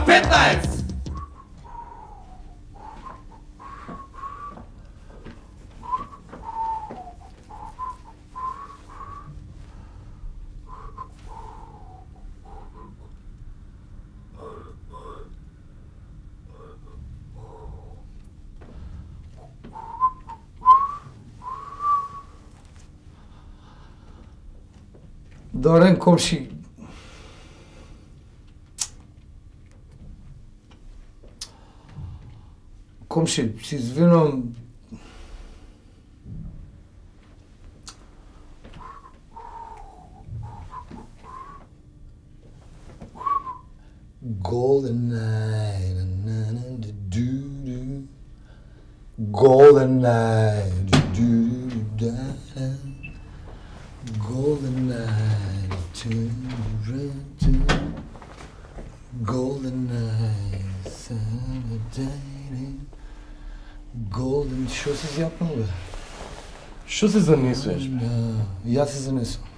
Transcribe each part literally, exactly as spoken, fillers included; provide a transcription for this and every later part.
петнаесет. Добар ден, комши. Комши, се извинувам. Golden night, do-do. Golden night, do-do-da. Golden night, to golden night, Saturday. Golden, шо си зјапнал, бе? Шо се занесуваш, бе? Јас се занесувам.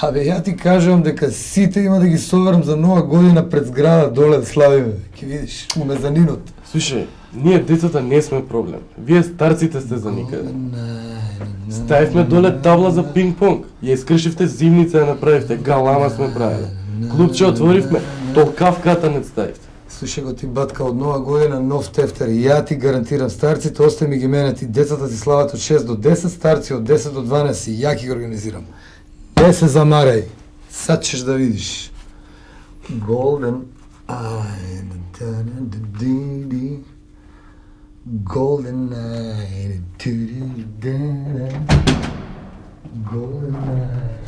Абе, ја ти кажувам дека сите има да ги соберам за нова година пред зграда доле да славиме. Ке видиш, у мезанинот. Слушај, ние децата не сме проблем. Вие старците сте за никаде. Ставивме доле табла за пинг-понг. Ја искршивте зимница, ја направивте, галама сме правили. Клубче отворивме, толкав катанец ставивте. Слушај го ти, батка, од нова година нов тефтер. Ја ти гарантирам, старците остави ми ги мене, ти децата си слават од шест до десет, старци од десет до дванаесет, ја ги организирам. Не се замарај, сад ćeš да видиш. Golden eye, da-da-da-dee-dee. Golden night, do-do-da-da. Golden night.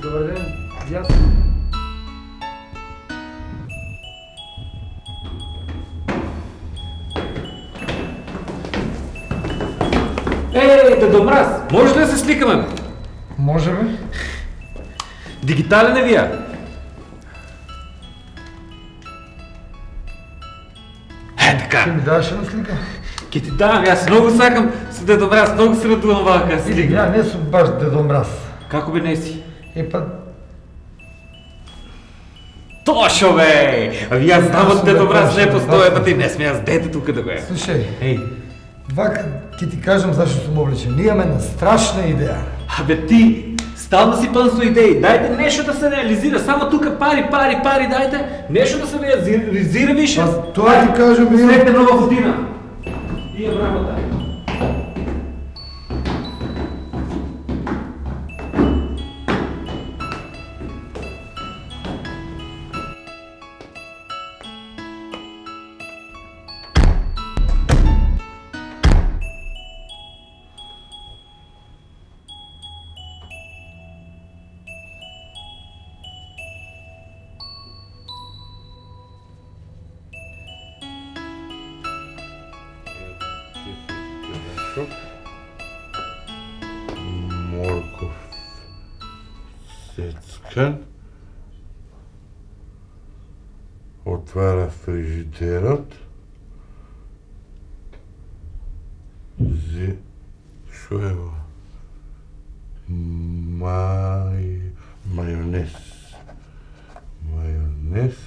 Добар ден, јас. Ей, Дедо Мраз, може ли да се сликаме? Може бе? Дигитален е вие? Е, така. Ке ми даваш една слика? Ке ти давам, аз много сакам с Дедо Мраз, много се радувам овака слика. Ја не сум баш Дедо Мраз. Како бе не си? Е па... Тошо бе! Ави аз знам од Дедо Мраз не постоje, па ти не сме аз дете тука да го е. Слушај, Ей, вака ќе ти кажам зашто сум облечен. Ние имаме една страшна идеја. абе ти, стално си пълн со идеи, дайте нещо да се реализира, само тука пари, пари, пари, дайте нещо да се реализира више. Аз тоа ти кажам, имам... След нова година. И е работа. Морков сецкан, отвара фрижидерот, зи... шо е во? Мај... мајонез. Мајонез,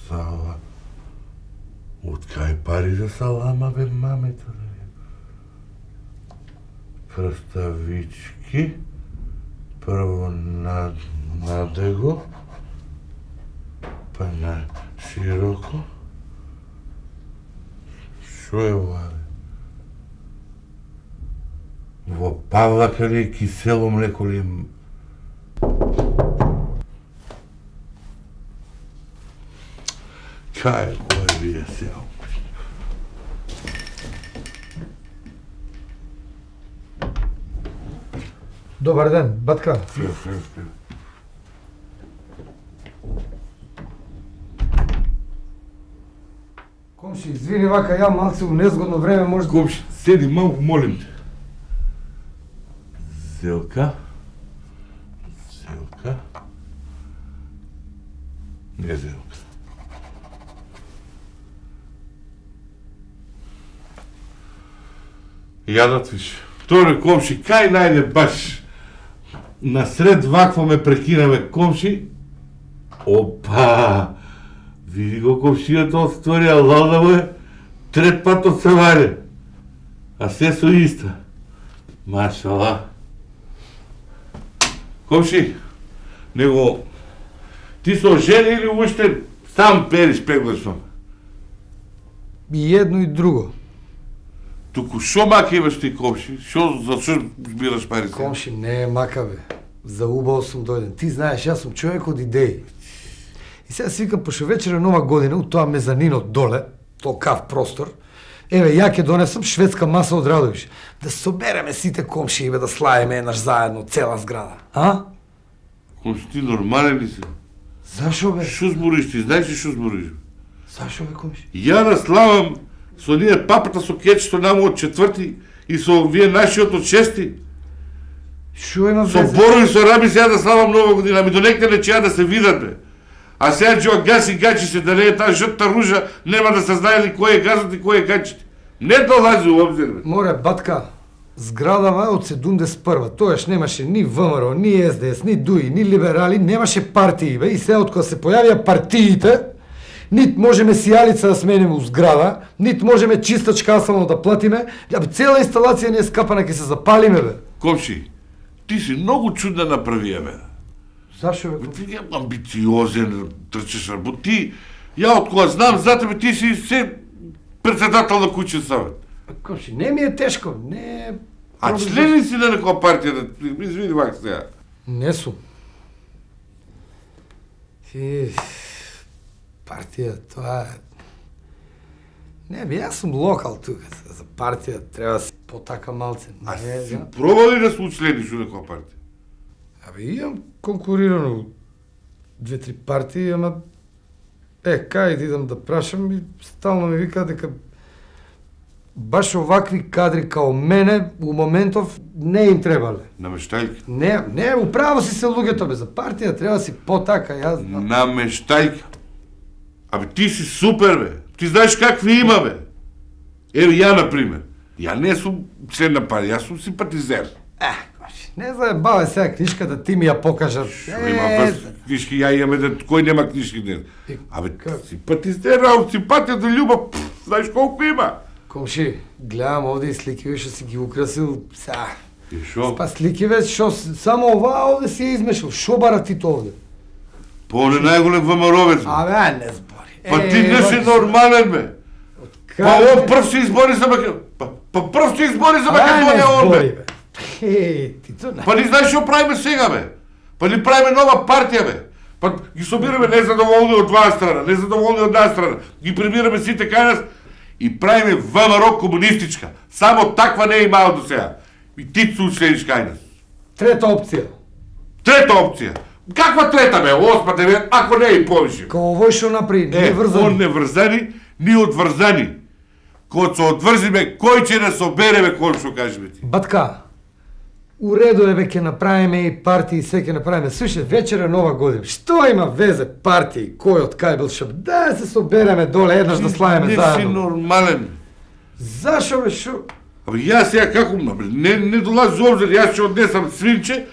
сала... Од кај пари за салама, бе, мамето? Прставички, прво на надего, па на широко. Шо е ова? Во павлака ли е кисело млеко ли е? Кај е кој вие сега? Добар ден, батка. Флю, флю, флю. Комши, извини, вака ја малце у незгодно време може... Комши, седи малку, молим те. Зелка, Ка? Не знам. Јадат виш. Торе комши, кај најде баш насред вакво ме прекинаме комши? Опа! Види го комшијата од сторија, лалда му е трет пат од Саваре. А се со иста. Машала. Комши, него ти со жена или уште сам периш пеглашно? И едно и друго. Туку шо мака имаш ти, комши? Шо, за шо збираш пари се? Комши, не е мака, бе. За убаво сум дојден. Ти знаеш, јас сум човек од идеи. И сега си викам, пошто вечер е нова година, у тоа мезанино доле, тоа кав простор, еве, ја ќе донесам шведска маса од Радовиш. Да собереме сите комши и бе да славиме еднаш заедно, цела зграда. А? Комши, ти нормален ли си? Зашо, бе? Шо збориш ти? Знаеш ли шо збориш? Зашо, бе, комши? Ја да славам со ние папата со кетчето наму од четврти и со вие нашиот од шести. Шо има Со везе? Боро и со Раби сега да славам нова година, ми донекте не чеа да се видат, бе. А сега Джо гаси гачи се, да не е таа жутта ружа, нема да се знае ли кој е газот и кој е гачите. Не долази у обзир, бе. Море, батка, зградава од седумдесет и прва. Тоаш немаше ни ВМРО, ни Ес Де Ес, ни Дуи, ни либерали, немаше партии, бе. И сега од кога се појавија партиите, нит можеме сијалица да смениме у зграда, нит можеме чистачка само да платиме, абе цела инсталација не е скапана, ќе се запалиме, бе. Комши, ти си многу чудна направија, бе. Зашо, бе? Ти е амбициозен, трчеш работ. Ти, ја од кога знам за тебе, ти си се председател на куќен савет. Комши, не ми е тешко, не е... А член ли си на некоја партија? Да... Извини вак сега. Не сум. И... партија, тоа е... Не, бе, јас сум локал тука. За партија треба да се потака малце. А Не, си да. пробали да се учлениш у некоја партија? Абе, имам конкурирано две-три партии, ама... Е, кај да идам да прашам и стално ми вика дека баш овакви кадри као мене у моментов не им требале. Намештајка. Не, не, управо си се луѓето, бе, за партија треба да си потака, јас знам. Намештајка. Абе, ти си супер, бе. Ти знаеш какви има, бе. Ево ја, например. Ја не сум член на партија, јас сум симпатизер. Е, не заебавај сега книжката, ти ми ја покажат. Шо има врз книжки, ја имаме да кој нема книжки днес. Абе, симпатизер, а од симпатија до љубов, пф, знаеш колку има. Комши, гледам овде и слики, што си ги украсил, са. И шо? Па слики ве, што само оваа овде си ја измешал. Шо бара ти тоа овде? По он е најголем ВМРО-вец. Абе, а не збори. Па ти не си нормален, бе. Па он прв се избори за Македонија. Па, па прв се избори за Македонија он, бе. Е, ти то не. Па ни знаеш што правиме сега, бе? Па ни правиме нова партија, бе. Па ги собираме незадоволни од два страна, незадоволни од една страна. Ги прибираме сите кај нас и правиме ВМРО комунистичка. Само таква не е имало до сега. И ти се учлениш кај нас. Трета опција. Трета опција. Каква трета, бе? Осма, девет, ако не и повише. Као овој што направи, не Е, врзани. он не врзани, ни одврзани. Кога се одврзиме, кој ќе не собереме, кој што кажеме ти? Батка, у реду е бе ќе направиме и партии, и се ќе направиме. Слушай, вечер е нова година. Што има везе партии, кој од кај бил шап? Да се собереме доле еднаш да славиме Не си заедно. нормален. Зашо бе шо? Абе, јас сега како, бе, не, не долази обзир, јас ќе однесам свинче,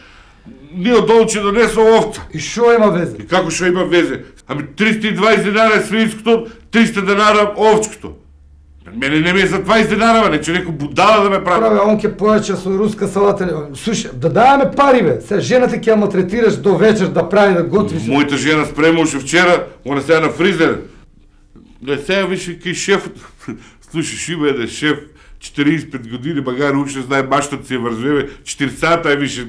ние долу ќе донесам овца. И шо има везе? И како што има везе? Ами триста и дваесет денара е свинското, триста денара овчкото. Мене не ми е за дваесет денара, не че некој будала да ме прави. Праве, он ќе појача со руска салата. Слушай, да даваме пари бе. Сега жената ќе ја малтретираш до вечер да прави да готви. Мојата жена спремаше вчера, она сега на фризер. Да сега више кај шефот. Слушай, има еден шеф, четириесет и пет години, магари уште знае баштот си е врзеве, четири сата е више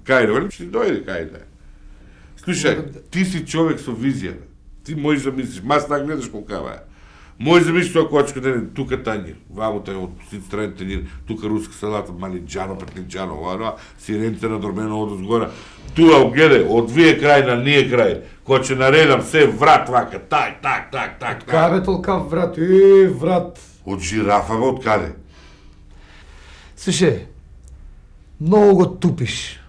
кај, вали? Ще дојде кај, да. Слушай, ти си човек со визија, бе. Ти можеш да мислиш, мас так гледаш колкава е. Можеш да мислиш тоа кочка ден, тука танјир, вамота е од страни танјир, тука руска салата, малинџано, петлинџано, ова, сиренце надормено од озгора. Туа, гледај, од вие крај на ние крај, кој ќе наредам се врат вака, тај, так, так, так, так. Кабе толкав врат, е, врат. Од жирафа, бе, од каде? Слушай, многу го тупиш.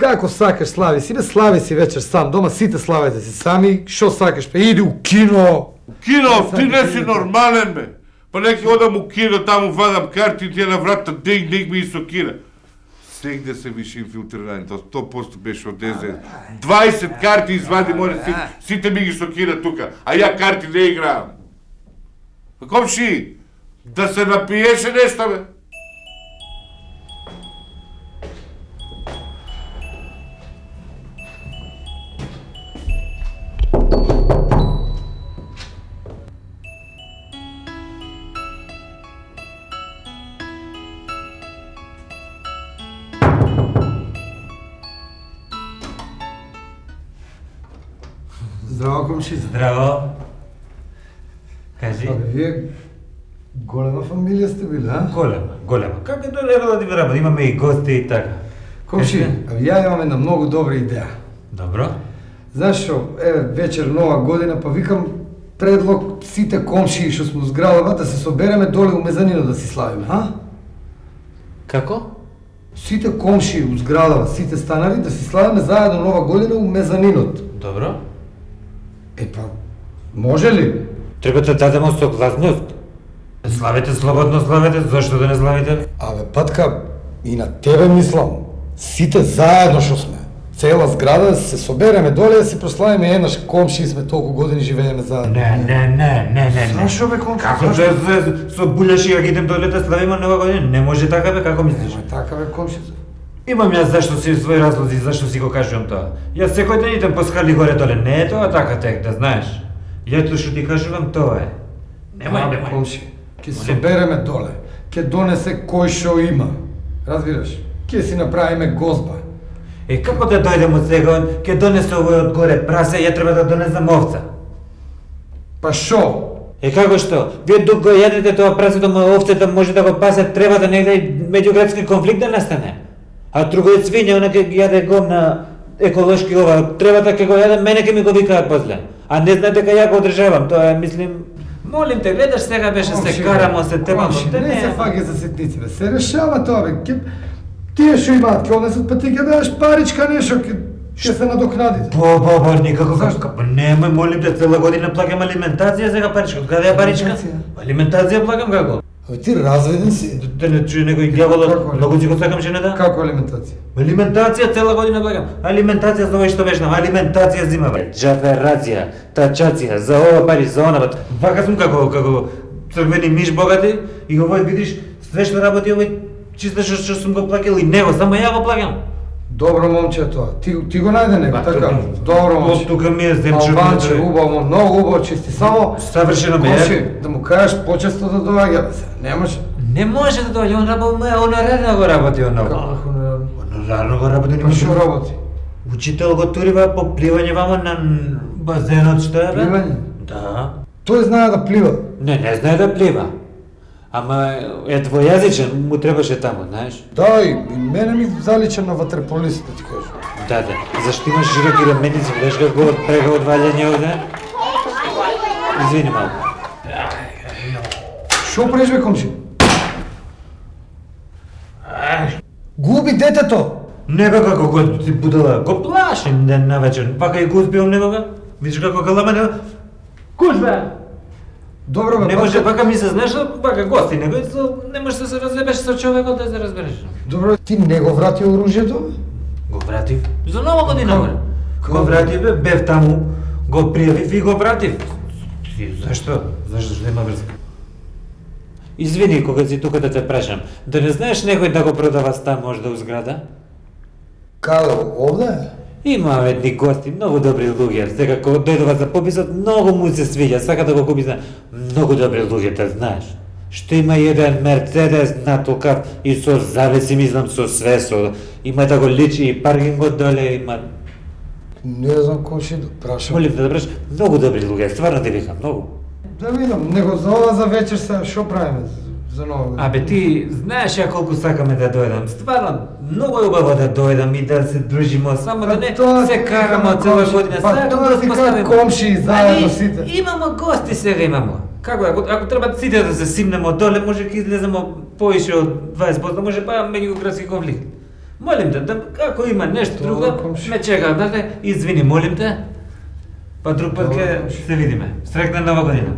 Како сакаш слави си, бе слави си вечер сам, дома сите славете си сами, шо сакаш, бе иди у кино. Кино, ти не си нормален, бе. Па неки одам у кино, таму вадам карти и тие на врата диг, диг ми и со кина. Сегде се више инфилтрирани, тоа сто проценти беше од ДЗ. дваесет карти извади, море си, сите ми ги со кина тука, а ја карти не играам. Комши, да се напиеше нешто, бе. Здраво, комши. Здраво. Кажи. Абе, вие голема фамилија сте биле, а? Голема, голема. Како е тоа да ти работа? Имаме и гости и така. Комши, абе, ја имам една многу добра идеја. Добро. Знаеш шо, еве, вечер нова година, па викам предлог сите комшии што сме у зградава да се собереме доле у мезанино да си славиме, а? Како? Сите комшии у зградава, сите станари да си славиме заедно нова година у мезанинот. Добро. Е па, може ли? Треба да дадеме согласност. Славете слободно, славете, зашто да не славите? Абе, Патка, и на тебе мислам. Сите заедно што сме. Цела зграда да се собереме доле да си прославиме еднаш комшии сме толку години живееме заедно. Не, не, не, не, не, не. Зашо бе комши? Како да се со булеши ја идем доле да славиме нова година? Не може така бе, како мислиш? Ема така бе комши. Имам јас зашто си своји разлози, зашто си го кажувам тоа. Јас секој ден идем по скали горе доле, не е тоа така тек, да знаеш. Јато што ти кажувам тоа е. Немој, Абе, немој. комши, ќе се собереме доле, ќе донесе кој шо има. Разбираш? Ќе си направиме гозба. Е, како да дојдем од сега, ќе донесе овој од горе прасе, ја треба да донесам овца. Па шо? Е, како што? Вие дук го јадете тоа прасето, ма овцата може да го пасе, треба да негде меѓуградски конфликт да настане. А другој свиња, она ќе јаде гомна еколошки ова, треба да ќе го јаде, мене ќе ми го викаат после. А не знаат дека ја го одржавам, тоа е, мислим... Молим те, гледаш сега беше се карамо, се тепамо, Комши, те не се не... фаќа за ситници, бе. Се решава тоа, бе. Ке... Тие што имаат, ќе однесат, па ти ќе дадеш паричка нешто, ќе ќе се надокнадите. Бо, бо, бо, никако Зашто? како, немој, молим те, цела година плакам алиментација сега паричка, од каде е паричка? Алиментација? Алиментација плакам како? Абе ти разведен си. Да не чуе некој дјаволот, Како многу си го сакам жената? Како алиментација? Алиментација цела година плакам. Алиментација за овој што вешна, алиментација зима бе. Джаферација, тачација, за ова пари, за она бе. Вака сум како како црвени миш богати и овој видиш све што работи овој чисто што што сум го плакал и него, само ја го плакам. Добро момче е тоа. Ти ти го најде него, Ба, така? тука- Добро Од момче. тука ми е земче. Албанче, убаво, многу убаво чисти. Само Савршено бе. Комши, да му кажеш почесто да доаѓа, бе. Се, не може. Не може да дојде, он работи, онорарно го работи он. Како хонорарно? Онорарно го работи, не Па што може. работи? Учител го турива по пливање вамо на базенот, што е бе? Пливање? Да. Тој знае да плива. Не, не знае да плива. Ама е двојазичен, му требаше таму, знаеш? Да, и и мене ми залича на ватерполист, да ти кажам. Да, да. Зашто имаш широки раменици, гледаш како го прега од валјање овде? Извини малку. Шо правиш бе, комши? Губи детето! Не бе како го ти будала, го плашим ден на вечер, пака и го узбивам некога. Видиш како калама не... Куш бе! Добро бе, Не може, пака- пака ми се знаеш, пака гости, него и со- не можеш да се разлебеш со човекот да се разбереш. Добро, ти не го врати оружјето? бе? Го вратив. За нова година, Како? бре. Како? Го вратив, бе, бев таму, го пријавив и го вратив. Ти, зашто? Зашто што нема врска? Извини, кога си тука да те прашам, да не знаеш некој да го продава стан можда у зграда? Каде, овде? Има едни гости, многу добри луѓе. Сега кога дојдува за пописот, многу му се свиѓа, сака да го купи за многу добри луѓе, те знаеш. Што има еден Мерцедес натолкав и со завеси, мислам, со све, со... Има да го личи и паркингот доле, има... Не знам комши да прашам. Молим да праш, многу добри луѓе, стварно те викам, многу. Да видам, него за ова за вечер се шо правиме за- за нова година? Абе ти знаеш ја колку сакаме да дојдам. Стварно, многу е убаво да дојдам и да се дружиме, само да не Тоа се ти караме кажам, од цела комши. година. Па Сакам тоа да ти успоставиме. кажам, комши, заедно Али, сите. Имамо гости сега имамо. Како ако ако треба сите да се симнемо доле, може ќе излеземе поише од дваесет проценти, може па меѓуградски конфликт. Молим те, да, ако има нешто друго, ме чека, да, извини, молим те. Па друг пат ќе се видиме. Среќна нова година.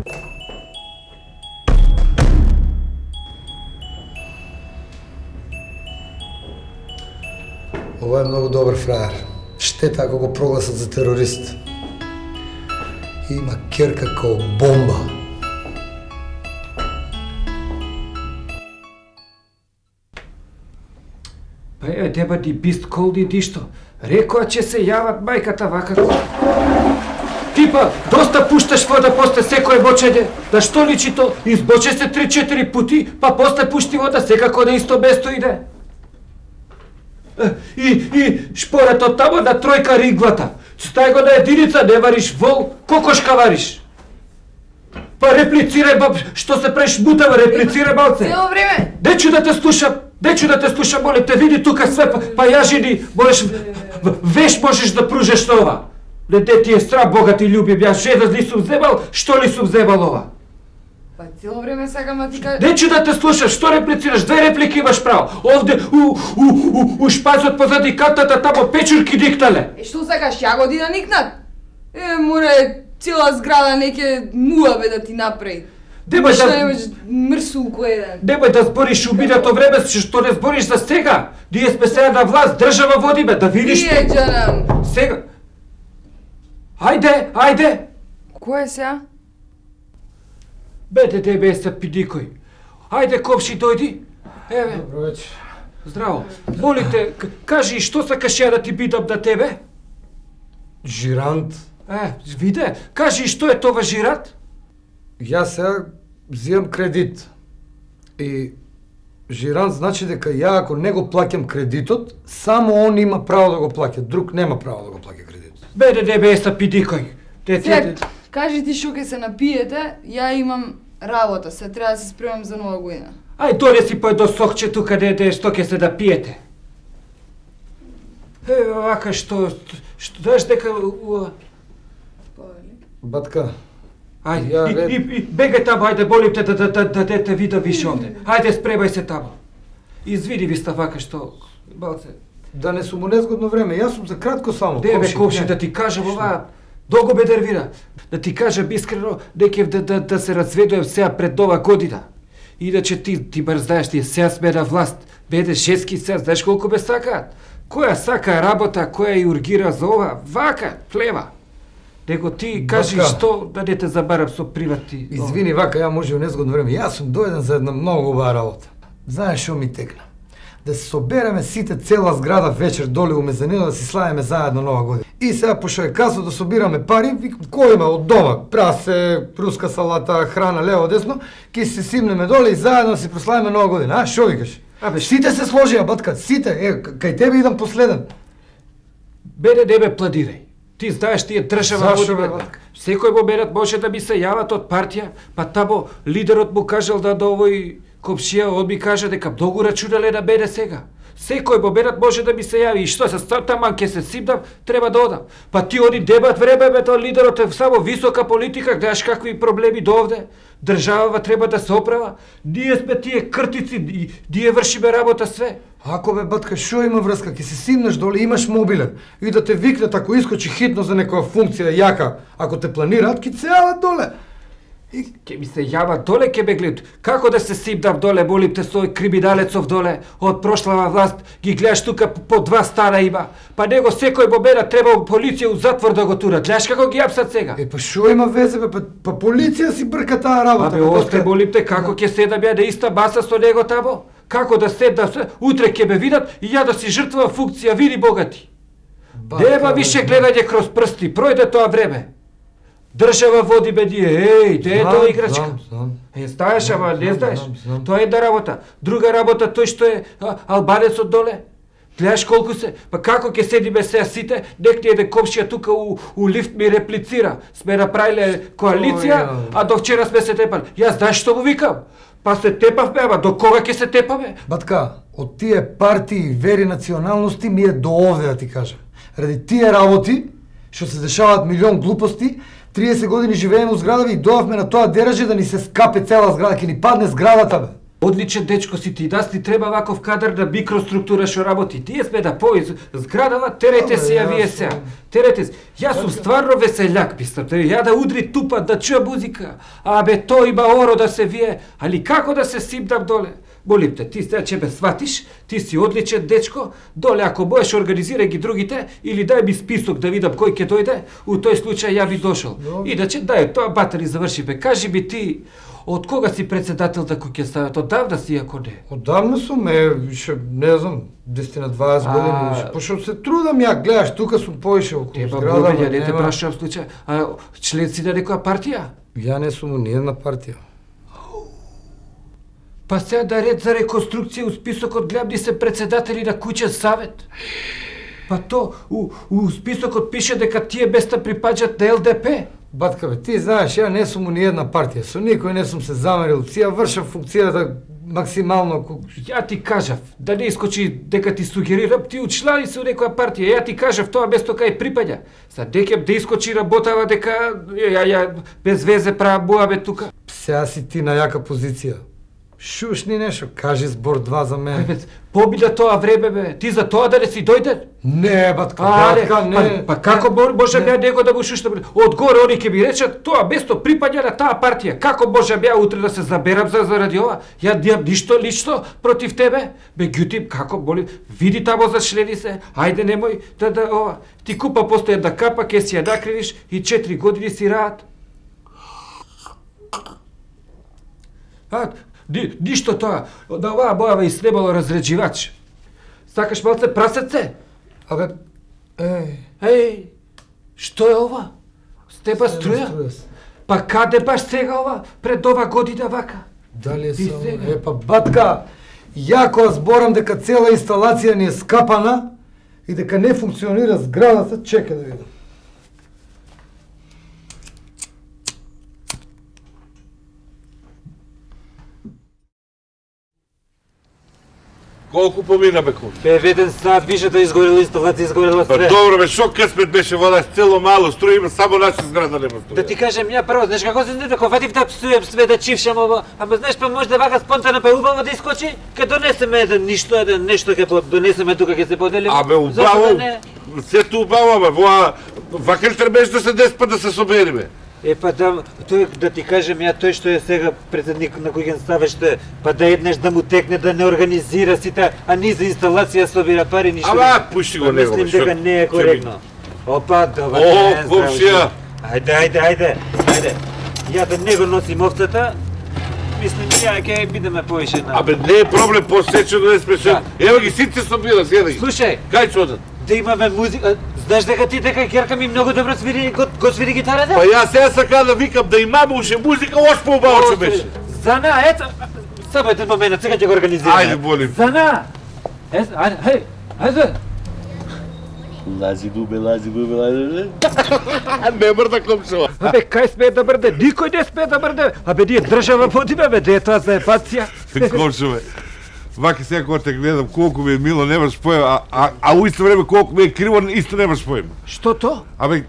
Ова е многу добар фраер. Штета ако го прогласат за терорист. Има керка као бомба. Па еве деба ти бист колди ти што. Рекоа че се јават мајката вака. Типа, доста пушташ вода после секое бочење. Да што личи то? Избоче се три-четири пути, па после пушти вода секако на исто место иде. И, и шпорето тамо на тројка риглата. Стај го на единица, не вариш вол, кокошка вариш. Па реплицирај, баб, што се преш мутава, реплицирај малце. Цело време. Дечу да те слушам, дечу да те слушам, молим те, види тука све, па, па ја жени, можеш, веш можеш да пружеш на ова. Не де ти е срам, Бога ти љубим, ја жена ли сум вземал, што ли сум вземал ова? Па цело време сакам да ти кажам. Дечу да те слушам, што реплицираш? Две реплики имаш право. Овде у у у у шпацот позади кантата тамо печурки дикнале. Е, што сакаш, ја го да никнат? Е, море, цела зграда неке муабе да ти направи. Демој Што да немаш мрсулко еден. Демој да збориш убидато време, што не збориш за сега. Ние сме сега на власт, држава водиме, да видиш. Тие, џанам. Сега. Ајде, ајде. Кој е сега? Бете тебе са пидикој. Ајде, комши, дојди. Еве. Добро вечер. Здраво. Молите, кажи што сакаш ја да ти бидам на тебе? Жирант. Е, виде, кажи што е тоа жирант? Јас сега взимам кредит. И жирант значи дека ја ако не го плаќам кредитот, само он има право да го плаќа, друг нема право да го плаќа кредит. Беде тебе са пидикој. Те Се, кажи ти што ќе се напиете, ја имам работа, се треба да се спремам за нова година. Ај дојде си по едно сокче тука дете што ќе се да пиете. Е, вака што, што знаеш дека... Батка, Ајде, Ја, и, ред. и, и, бегај тамо, ајде, болим те да, да, да, да дете вида више овде. Ајде, спремај се тамо. Извини ви ста вака што... Балце... да не сум у незгодно време, јас сум за кратко само. Деве, комши, комши, не. да ти кажам ова, долго ме нервира. Да ти кажам искрено, некев да, да, да се разведуем сега пред нова година. Иначе ти, ти бар знаеш, тие сега сме на власт. Беде шески сега, знаеш колку ме сакаат? Која сака работа, која и ургира за ова? Вака, плева. Него ти кажи Батка. што да не те забарам со привати. Извини, вака, ја може у незгодно време. Јас сум дојден за една многу убава работа. Знаеш што ми текна? Да се собереме сите цела зграда вечер доле у мезанина да си славиме заедно нова година. И сега пошто е касо да собираме пари, викам кој има од дома, прасе, руска салата, храна лево десно, ќе се симнеме доле и заедно да си прославиме нова година. А што викаш? Абе, Сите се сложија, батка, сите. Е, кај тебе идам последен. Беде, не ме пладирај. Ти знаеш, тие држава Зашо, водиме. бе, батка? Секој момент може да ми се јават од партија, па тамо лидерот му кажал да до овој комшија, он ми кажа дека многу рачунале на мене сега. Секој момент може да ми се јави и што се стар таман ке се симнам, треба да одам. Па ти они дебат време бе тоа лидерот е само висока политика, гледаш какви проблеми до овде. Државава треба да се оправа. Ние сме тие кртици, и ние вршиме работа све. Ако бе, батка, шо има врска? Ке се симнеш доле, имаш мобилен. И да те викнат ако искочи хитно за некоја функција јака. Ако те планираат, ки се јават доле. И Ке ми се јава доле, ке ме гледат. Како да се симнам доле, молим те, со овој криминалецов доле, од прошлава власт, ги гледаш тука по два стана има. Па него секој момент треба полиција у затвор да го турат. Гледаш како ги апсат сега? Е, па шо има везе, бе? Па, па полиција си брка таа работа. Абе, бе, осте, батка. молим те, како ќе седам ја на иста маса со него тамо? Како да седам, се- утре ќе ме видат и ја да си жртвувам функција, види богати. Батка, Нема бе, више знам. гледање кроз прсти, пројде тоа време. Држава води бе ние, еј, де е Знам, тоа играчка? знам, знам. Е, знаеш, ама не Знам, знаеш. знам, знам. Тоа е една работа. Друга работа, тој што е а, албанецот доле. Гледаш колку се, па како ќе седиме сега сите, нек ни еден комшија тука у, у лифт ми реплицира. Сме направиле коалиција, Ој, а до вчера сме се тепали. Јас знаеш што му викам? Па се тепавме, ама до кога ќе се тепаме? Батка, од тие партии, вери, националности ми е до овде да ти кажам. Ради тие работи, што се дешаваат милион глупости, триесет години живееме у зградава и доавме на тоа деражи да ни се скапе цела зграда, ќе ни падне зградата, бе. Одличен дечко си ти, да ти треба ваков кадар на микроструктура што работи. Тие сме да пои зградава, терејте се ја вие сега. Терејте се. Јас сум стварно веселјак, пистам. Ја да удри тупа, да чуја музика. Абе, тој има оро да се вие. Али како да се симдам доле? Молим те, ти сега ќе ме сватиш, ти си одличен дечко, доле ако можеш организирај ги другите, или дај ми список да видам кој ќе дојде, у тој случај ја би дошол. Иначе дај, тоа батари заврши бе. Кажи ми ти, од кога си председател на куќен савет? Одавна си, ако не? Одавна сум, е, више, не знам, десет на дваесет години, више, пошто се трудам ја, гледаш, тука сум поише околу Теба зграда, бубења, не те нема- прашувам случај. А член си на некоја партија? Ја не сум у ниједна партија. Па сега да ред за реконструкција у списокот гледам ни се председатели на куќен савет. Па то, у, у списокот пише дека тие места припаѓаат на Л Д П. Батка бе, ти знаеш, ја не сум у ниједна партија, со никој не сум се замерил, си ја вршам функцијата максимално ку... Ја ти кажав, да не искочи дека ти сугерирам, ти учлани се у некоја партија, ја ти кажав тоа место кај припаѓа. Са декем да искочи работава дека ја, ја без везе правам муабе тука. Сега си ти на јака позиција. Шушни нешто, кажи збор два за мене. Бе, побида тоа време бе, ти за тоа да не си дојден? Не, батка, А, батка, не, не. па, па како можам ја него да му шуштам? Одгоре они ќе ми речат, тоа место припаѓа на таа партија. Како можам ја утре да се заберам за заради ова? Ја дијам ништо лично против тебе? Меѓутоа, како молим, види тамо за члени се. Ајде немој да да ова. Ти купа после една капа, ќе си ја накривиш и четири години си раат. А, ни, ништо тоа. На оваа бојава и снемало разреđivač. Сакаш малце прасеце? Абе, еј, Еј, што е ова? Стеба струја? струја се. Па каде баш сега ова, пред ова година вака? Дали е И само... сега? Е, па батка, ја кога зборам дека цела инсталација ни е скапана и дека не функционира зградата, чекај да видам. Колку помина бе кон? Бе, веден сат више да изгорела инсталација, изгорела Па струја. добро бе, шо късмет беше вода, цело мало струја има, само наша зграда нема струја. Да ти кажем ја прво, знаеш како се не дека фатив да псуем све да чившам ово, ама знаеш па може да вака спонтано па убаво да искочи, ке донесеме еден ништо, еден нешто ке донесеме тука ке се поделиме. Абе, Зашто убаво, да не? сето убаво, бе, воа, вака ли требеш да се деспа да се собериме? Е, па да, тој, да ти кажем ја, тој што е сега председник на куќен савет, што е, па да еднаш да му текне да не организира сите, а ни за инсталација собира пари, ништо. Ама, пушти го Па него, бе, мислим дека шо- не е ќе ми- коректно. Опа, добар О, ден, здраво комшија. живо. Ајде, ајде, ајде, ајде. Ја да не го носим овцата, мислим ја ќе бидеме повише на... Абе, не е проблем, посечено не спешен. Ева ги сите собира, гледај ги. Слушај, Кај ќе одат? да имаме музика, знаеш дека ти дека ќерка ми многу добро свири, го, го свири гитарата? Па јас сега сака да викам да имаме уште музика, ош поубаво ќе беше. Зана, ето, само еден момент, сега ќе го организираме. Ајде, молим. Зана! Ес, ајде, хеј, ајде. Лази дубе, лази дубе, лази дубе. Не мрда комшува. Абе, кај смее да мрде? Никој не смее да мрде. Абе, ние држава водиме, бе, де е тоа за епација? Комшуве. Вака сега кога те гледам колку ми е мило, немаш поем, а, а, а у исто време колку ми е криво, исто немаш поем. Што то? Абе,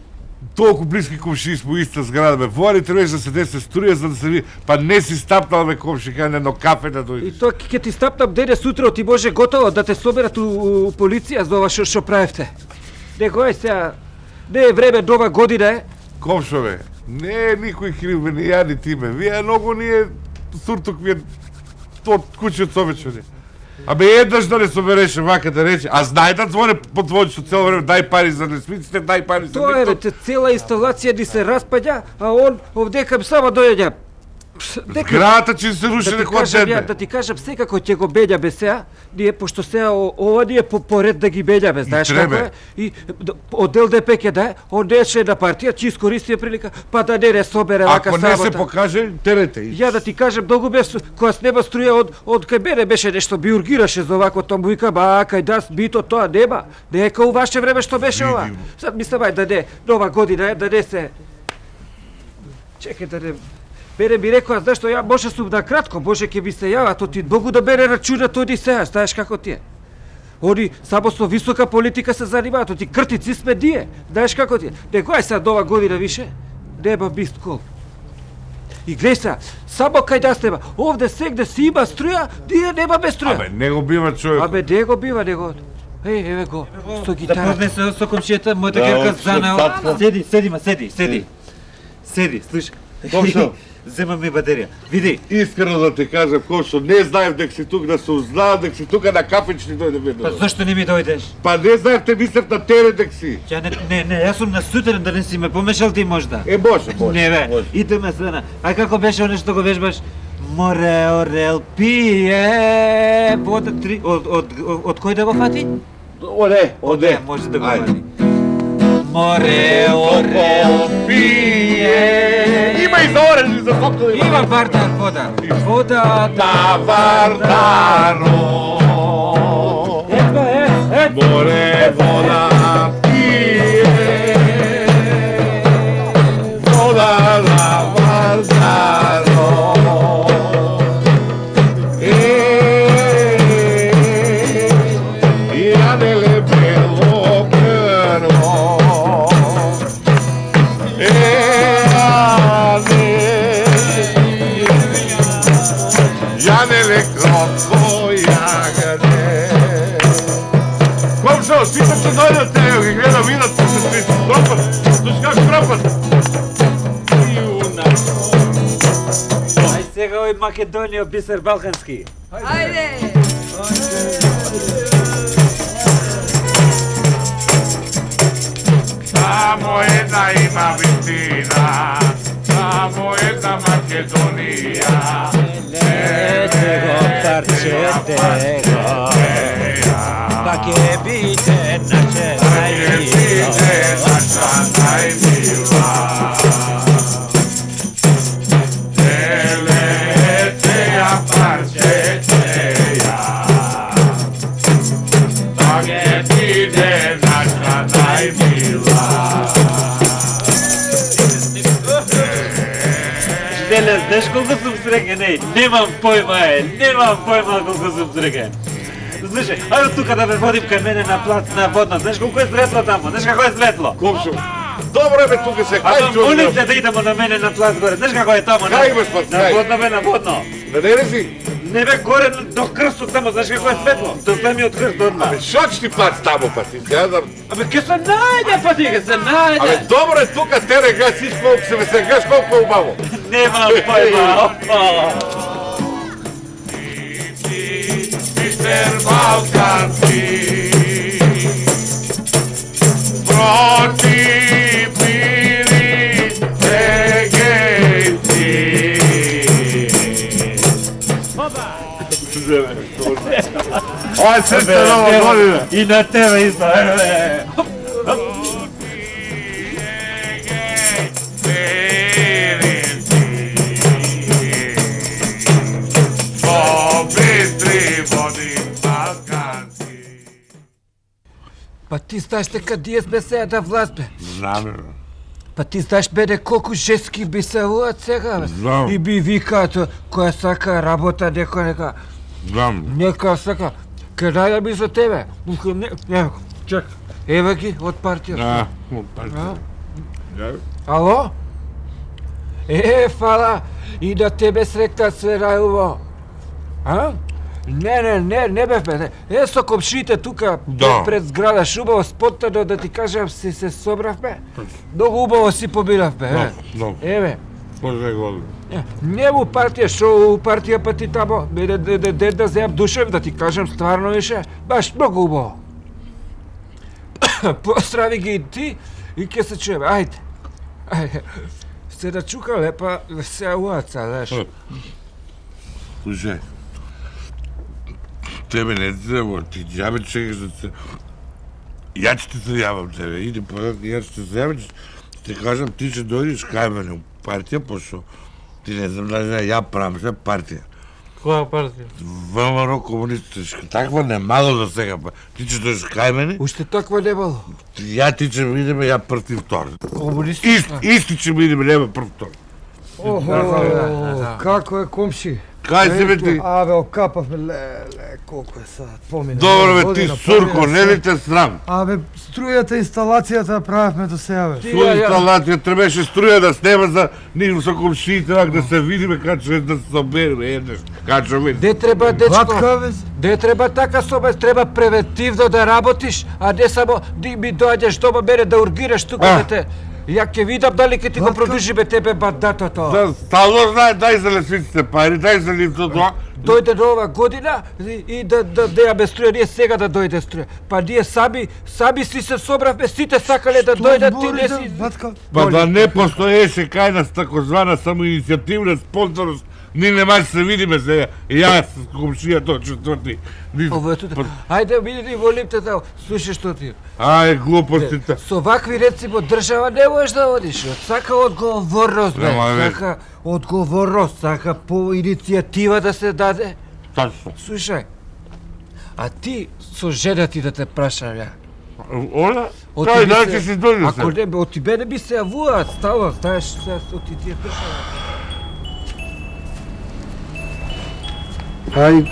толку блиски комшии сме у иста зграда, бе. Воа ли требаш да се десе струја за да се види, па не си стапнал, бе, комши, кај на едно кафе да И дојдеш. тоа ќе ти стапнам денес утре, ти може готово да те соберат у, у полиција за ова што што правевте. Него е сега, не е време, нова година е. Комшове, не е никој крив, бе, ни ја ни ти, бе. Вие многу ни е суртук ми е од куќиот собечени. Абе, еднаш да не собереше вака да рече, а знај да звоне по твојчето цело време, дај пари за лесвиците, дај пари за Тоа е, бе, нито. те цела инсталација ни се распаѓа, а он овдека само дојаѓа. Дека Зградата ќе се руши да ти некоја кажам ја, дете. да ти кажам секако ќе го беѓаме сега, ние пошто сега о- ова ни е по поред да ги беѓаме, знаеш како требе. е? И д- од Л Д П ќе да е, он не е член на партија, ќе искористи прилика, па да не не собере вака Ако не се сабота. покаже, терете. и- Ја да ти кажам, многу бе, кога снема струја од, од кај мене беше нешто, би ургираше за овако, тоа му викам, а, кај нас бито тоа нема, не е кај у ваше време што беше ова. Видимо. Сад мислам, ај да не, нова година е, да не се... Чекај да не... Бере ми рекоа, знаеш што, ја може сум на кратко, може ќе ви се јава, то ти многу да бере рачунат оди сега, знаеш како ти е. Они само со висока политика се занимаваат, оти кртици сме ние, знаеш како ти е. Него ај сега нова година више, нема мист кол. И глеј се, само кај да сте, овде сегде си има струја, ние нема без струја. Абе, не го бива човек. Абе, не го бива, него. Еј, еве го, со Да гитара. поднесе со комшијата, мојата Да, керка од Зана. татко. Седи, седи, ма, седи, седи. Седи, слушај. Комшо. Земам ми батерија. Види, Искрено да ти кажам, Комшо, не знаев дека си тук, да се узнаа дека си тука на кафечни дојде па веднаш. зашто не ми дојдеш? Па не знаев, те мислев на тере дека си. Ја не, не, не, јас сум на сутрин, да не си ме помешал ти можда. Е, може, може. Не бе, може. идеме Свена. Ај како беше оне што го вежбаш? Море орел пие, вода три, од, од, од, од кој да го фати? Оде, оде. Може да го Ајде. фати. Море орел пие. Има и за орел, и за сокол. Има Вардар вода. Вода На Вардаро. Ето е, е. Море вода пие. Вода на Вардаро. Е, јаделе бело крво. Е, јаделе кротко јагаде. Комшо, сите ќе дојдат, ево ги гледам, идат се се се кропат, слушай как кропат. Ај сега ој Македонија бисер балкански. Ајде! Само една има вистина, само една Македонија. Летего парчетего, па ке биде наше најмило. Деле, знаеш колку сум среќен, еј, немам појма, е, немам појма колку сум среќен. Слушај, ајде тука да ме водим кај мене на плац на водно, знаеш колку е светло таму, знаеш како е светло? Комшо, добро е бе тука се, А хај па молите да идемо на мене на плац горе, знаеш како е таму? на- Кај бе, спас, На кај? водно бе, на водно. Да не ли си? Не бе, горе до крстот таму, знаеш како е светло? До самиот крст одма. Абе, шо ќе ти плац таму па ти, гледам. Абе, ке се најде па ти, ке се најде. Абе, добро е тука, тере га си колку се ме сегаш колку е убаво. Немам појма, опа. Мистер Балкански, против мири сегенци. Ај, се се нова година. И на тебе исто, еве. Па ти знаеш дека диес бе сега да власт бе. Знам, Па ти знаеш бе колку женски би се луат сега бе. Знам. И би викаат која сака работа некој нека знам. нека сака. Кај би за тебе. Не, не, чек. Еве ги од партија. А, А? Ало? Е, фала, и да тебе сректа све рајуво. А? Не, не, не, не бев бе. Е, со комшиите тука Да. пред зграда шубаво споттано да ти кажам си се собрав бе. Многу убаво си побирав бе. Да, е. да. Еве. Може година. Е, Не у партија, шо у партија па ти тамо, де, де, де, де да земам душев, да ти кажам стварно више, баш многу убаво. Поздрави ги и ти и ке се чуеме, ајде. Ајде. Се да чукале, па се уаца, знаеш. Слушај, тебе не ти треба, ти џабе чекаш да се... Ја ќе ти се јавам тебе, иди подат, ја ќе ти се јавам, ќе ти кажам, ти ќе дојдеш кај мене у партија, пошто ти не знам дали да ја правам се партија. Која партија? ВМРО комунистичка, таква немало за сега, па ти ќе дојдеш кај мене, Уште таква не было. ја ти ќе видиме, ја прв втор. Комунисти. Ист, исти ќе видиме, нема прв втор. Охо, како е комши? Кај се бе ти? Абе, окапавме, леле, колку е сад, помина. Добро бе, ти година, сурко, помина не ли сад. те срам? Абе, струјата, инсталацијата правевме до сега, бе. Со инсталација требаше струја да снема за нив со комшиите, вак да се видиме качо е да се собереме еднаш. Качо ми. Де треба, Ватка, дечко, бе. де треба така собе, треба превентивно да работиш, а не само ти ми доаѓаш дома мене да ургираш тука, А. бе те. Ја ќе видам дали ќе ти го Ватка. продужи бе тебе бандатото. Да, стално знае, дај за лесвиците пари, дај за ливто тоа. Дојде нова година и, и да да да ја струја, ние сега да дојде струја. Па ние сами сами си се собравме, сите сакале да дојдат, ти не си. Ватка, Па да не постоеше кај нас такозвана самоиницијативна спонсорност, ни не може се видиме сега. Јас с комшија тоа четврти. Ни- Ово е тука. Ајде види волим те да слушаш што ти. Ај, глупостите. Со вакви рецимо држава не можеш да одиш. Сака одговорност, бе. Нема, бе. Сака одговорност, сака по иницијатива да се даде. Тачно. Слушај, а ти со жена ти да те прашам ја. Оля? Од Кај тебе да се- ќе си дојде Ако се? не, бе, од тебе не би се јавуваат, стално, знаеш, сега со ти тие прашања. ај,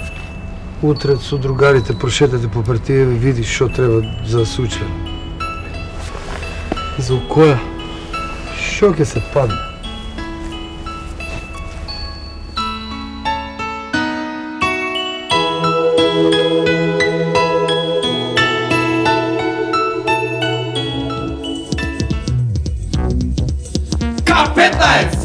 утре со другарите прошетате по партије и видиш што треба за суче. За која? Што ќе се падне? К петнаесет